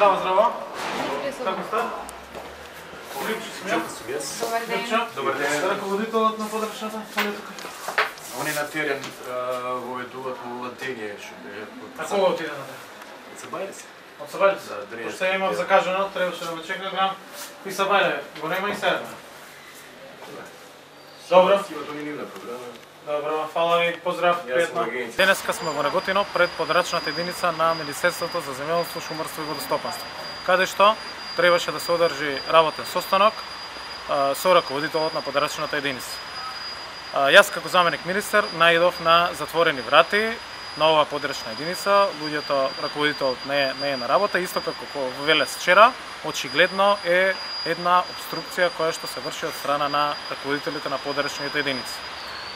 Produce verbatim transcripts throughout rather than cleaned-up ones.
Здраво, здраво. Како сте? Добар ден. Добар ден. Раководителот на подрачната политика. Они на терен во ведуваат во латење што бе. А кога отиде на терен? Се бајле се. Од Сабајле? Да, дренски. Пошто ја имав закажано, требаше да ме чека грам. И Сабајле, го нема и седна. Добро. Имато ни нивна програма. Добро, фала ви, поздрав, Јас пријатно. сум агенција. Денеска сме во Неготино пред подрачната единица на Министерството за земјоделство, шумарство и водостопанство, каде што требаше да се одржи работен состанок а, со раководителот на подрачната единица. А, јас како заменик министер наидов на затворени врати на оваа подрачна единица. Луѓето, раководителот не е, не е на работа, исто како во Велес вчера, очигледно е една обструкција која што се врши од страна на раководителите на подрачните единици.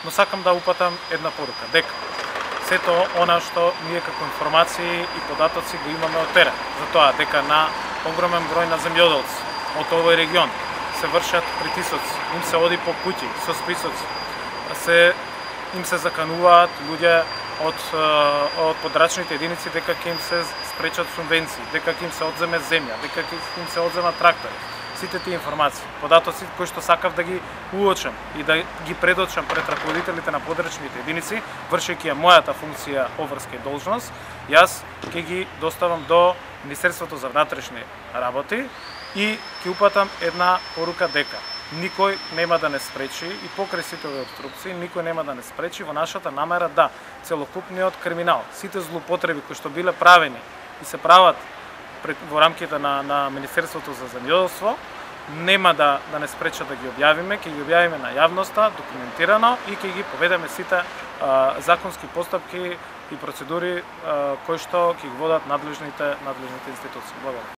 Но сакам да упатам една порука, дека сето она што ние како информации и податоци го имаме од терен, затоа дека на огромен број на земјоделци од овој регион се вршат притисоци, им се оди по куќи со списоци, се им се закануваат луѓе од од подрачните единици дека ќе им се спречат субвенции, дека ќе им се одземе земја, дека ќе им се одземат трактори. Сите тие информации, податоци кои што сакав да ги уочам и да ги предочам пред раководителите на подрачните единици, вршејќи ја мојата функција обврска и должност, јас ќе ги доставам до Министерството за внатрешни работи и ќе упатам една порука дека никој нема да не спречи и покрај сите овие обструкции, никој нема да не спречи во нашата намера да целокупниот криминал, сите злоупотреби кои што биле правени и се прават во рамките на, на Министерството за земјоделство, нема да, да не спреча да ги објавиме, ќе ги објавиме на јавноста, документирано и ќе ги поведеме сите а, законски постапки и процедури а, кои што ќе ги водат надлежните, надлежните институции. Благодарам.